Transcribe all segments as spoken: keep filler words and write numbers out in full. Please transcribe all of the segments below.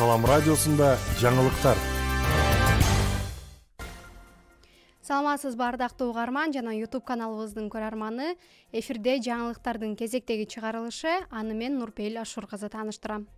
Салам радиосунда жаңылыктар. Саламатсыз бардактуу угарман жана YouTube каналыбыздын көрөрманы. Эфирде жаңылыктардын кезектеги чыгарылышы. Аны мен Нурпейил Ашур кызы тааныштырам.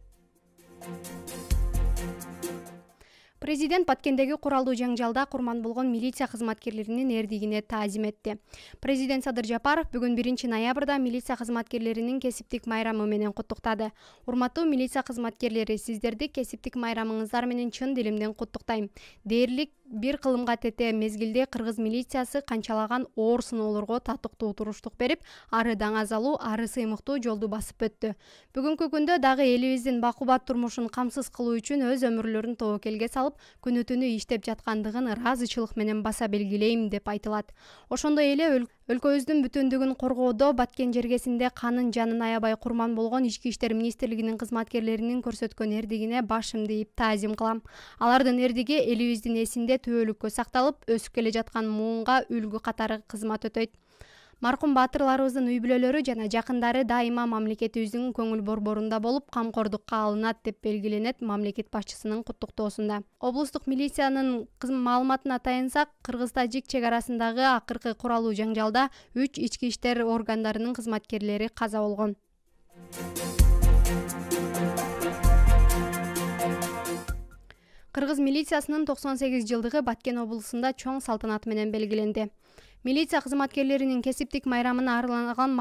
Президент Баткендеги куралдуу жаңжалда курман болгон милиция кызматкерлеринин эрдигине таазим этти. Президент Садыр Жапаров бүгүн биринчи ноябрда милиция кызматкерлеринин кесиптик майрамы менен куттуктады. Урматтуу милиция кызматкерлери, сиздерди кесиптик майрамыңыздар менен чын дилимден куттуктайм. Дээрлик бир кылымга тете мезгилде кыргыз милициясы канчалаган оор сыноолорго татыктуу туруштук берип, ары даңазалуу, ары сыймыктуу жолду басып өттү. Бүгүнкү күндө дагы элибиздин бакубат турмушун камсыз кылуу үчүн өз өмүрлөрүн тобокелге салып, күнү түнү иштеп жаткандыгын ыраазычылык менен баса белгилейм деп айтылат. Ошондой эле өлкөбүздүн бүтүндүгүн коргоодо Баткен жергесинде канын жанын аябай курман болгон Ички иштер министрлигинин кызматкерлеринин көрсөткөн эрдигине башымды ийип таазим кылам. Алардын эрдиги элибиздин эсинде түбөлүккө сакталып, өсүп келе жаткан муунга үлгү катары кызмат өтөйт. Маркум баатырларыбыздын үй бүлөлөрү жана жакындары дайыма мамлекетибиздин көңүл борборунда болуп, камкордукка алынат деп белгиленет мамлекет башчысынын куттуктоосунда. Облустук милициянын маалыматына таянсак, кыргыз-тажик чек арасындагы акыркы куралуу жаңжалда үч ички иштер органдарынын кызматкерлери каза болгон. Кыргыз милициясынын токсон сегиз жылдыгы Баткен облусунда чоң салтанат менен белгиленди. Милиция кызматкерлеринин кесиптик майрамына арналган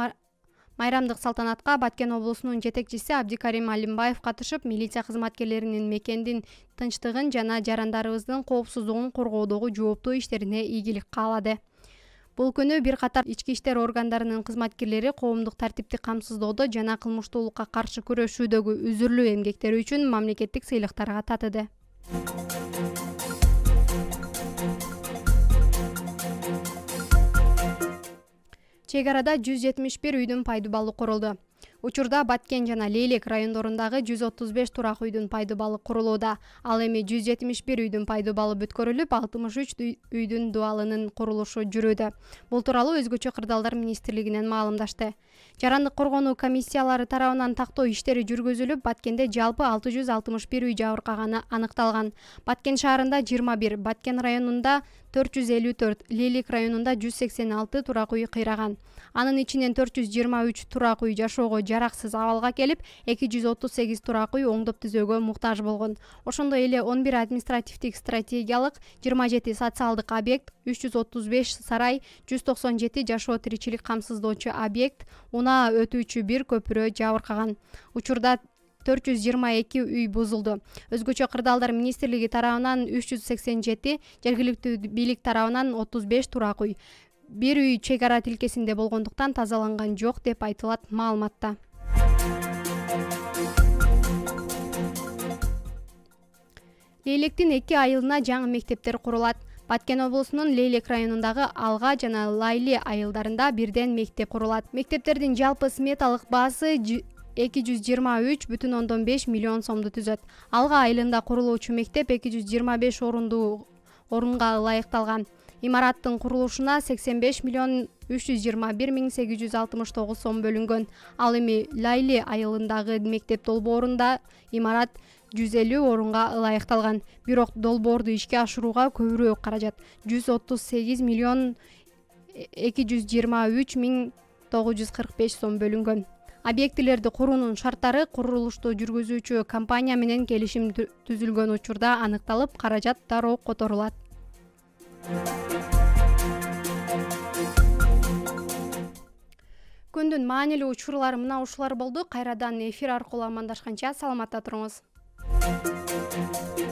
майрамдык салтанатка Баткен облусунун жетекчиси Абдикарим Алимбаев катышып, милиция кызматкерлеринин мекендин тынчтыгын жана жарандарыбыздын коопсуздугун коргоодогу жооптуу иштерине ийгилик каалады. Бул күнү бир катар ички иштер органдарынын кызматкерлери коомдук тартипти камсыздоодо жана кылмыштуулукка каршы күрөшүүдөгү үзүрлүү эмгектери үчүн мамлекеттик сыйлыктарга татыды. Чек арада жүз жетимиш бир үйдүн пайдуу балы курулду. Учурда Баткен жана Лейлек райондорундагы жүз отуз беш турак үйдүн пайдуу балы курулууда. Ал эми жүз жетимиш бир үйдүн пайдуу балы бүткөрүлүп, алтымыш үч үйдүн дубалынын курулушу жүрүүдө. Бул тууралуу Өзгөчө кырдаалдар министрлигинен маалымдашты. Жарандык коргонуу комиссиялары тарабынан тактоо иштери жүргүзүлүп, Баткенде жалпы алты жүз алтымыш бир үй жабыркаганы аныкталган. Баткен шаарында жыйырма бир, Баткен районунда төрт жүз элүү төрт, Лейлек районунда жүз сексен алты турак үй кыйраган. Анын ичинен төрт жүз жыйырма үч турак үй жашоого жараксыз абалга келип, эки жүз отуз сегиз турак үй оңдоп түзөөгө муктаж болгон. Ошондой эле он бир административдик стратегиялык, жыйырма жети социалдык объект, үч жүз отуз беш сарай, жүз токсон жети жашоо тиричилик камсыздоочу объект, унаа өтүүчү бир көпүрө жабыркаган. Учурда төрт жүз жыйырма эки үй бузулду. Өзгөчө кырдаалдар министрлиги тарабынан үч жүз сексен жети, жергиликтүү бийлик тарабынан отуз беш турак үй. Бир үй чек ара тилкесинде болгондуктан тазаланган жок деп айтылат маалыматта. Лейлектин эки айылына жаңы мектептер курулат. Баткен облусунун Лейлек районундагы Алга жана Лайли айылдарында бирден мектеп курулат. Мектептердин жалпы сметалык баасы эки жүз жыйырма үч бүтүн ондон беш миллион сомду түзөт. Алга айылында курулуучу мектеп эки жүз жыйырма беш орундуу орунга ылайыкталган. Имараттын курулушуна сексен беш миллион үч жүз жыйырма бир миң сегиз жүз алтымыш тогуз сом бөлүнгөн. Ал эми Лайли айылындагы мектеп долбоорунда имарат жүз элүү орунга ылайыкталган. Бирок долбоорду ишке ашырууга көбүрөөк каражат жүз отуз сегиз миллион эки жүз жыйырма үч миң тогуз жүз кырк беш сом бөлүнгөн. Объектилерди куруунун шарттары курулушту жүргүзүүчү компания менен келишим түзүлгөн учурда аныкталып, каражат дароо которулат. Күндүн маанилүү учурлары мына ушулар болду. Кайрадан эфир аркылуу амандашканча саламатта туруңуз.